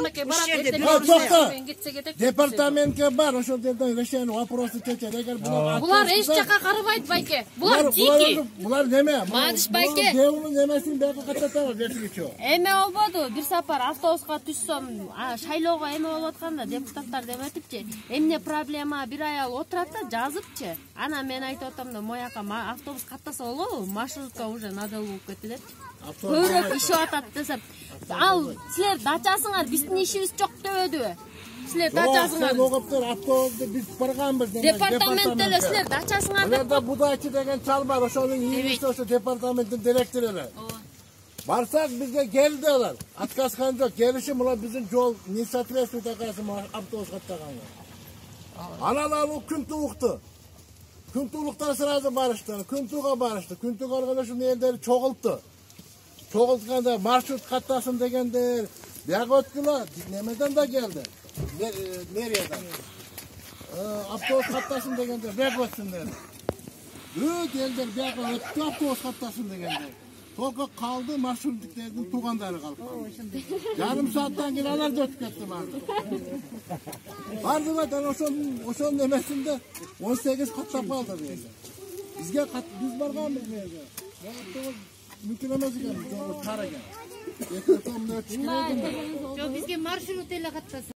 департаментке барат. Департаментке бар, ошол жерден решение вопросы чечет. Эгер булар эч жака карабайт байке. Булар жеки. Булар неме? Мадиш байке. Девунун немесин бияка каттатабыз берчүчү. Эме болбоду. Бир сапар автобуска түшсөм, шайлоого эме болуп атканда депутаттар деметипчи. Эмне проблема? Бир аял отурат да жазыпчы. Ана мен айтып атам да, мояка автобус каттаса болобу? Маршрутка уже надел болуп кетти деп. Көбүрөөк ишип атат десем. Ал силер дачасыңар биздин ишибиз жок дебедиби? Силер дачасыңар. Логоптор автобусты биз барганбыз деген департаментте эле силер дачасыңар деп. Аларда Будачы деген чал бар, ошонун ийгиси ошо департаменттин директору эле. Барсак бизге келди алар. Отказган жок. Келиши мына биздин жол не соответствует акасы автобус каттаганга. Аналар күн туукты. Күн туулуктан сразу барышты. Күн тууга барышты. Күн тууга алганда ушул элдер чогултtu. Чогултканда маршрут каттасын дегендер. Бияга өткүлө немеден да келди. Мэриядан. Автобус каттасын дегендер, бияга өтсүндөр. Өт элдер бияга өттү, автобус каттасын дегендер. Только калды маршрутчиктердин туугандары калып калды. Жарым сааттан кийин алар да өтүп кетти барды. Бардыга ошонун немесинде 18 каттап калды бизге. Бизге биз барганбыз бизге. Мүмкүн эмес экен, жол тар экен. Жок, бизге маршрут эле каттаса.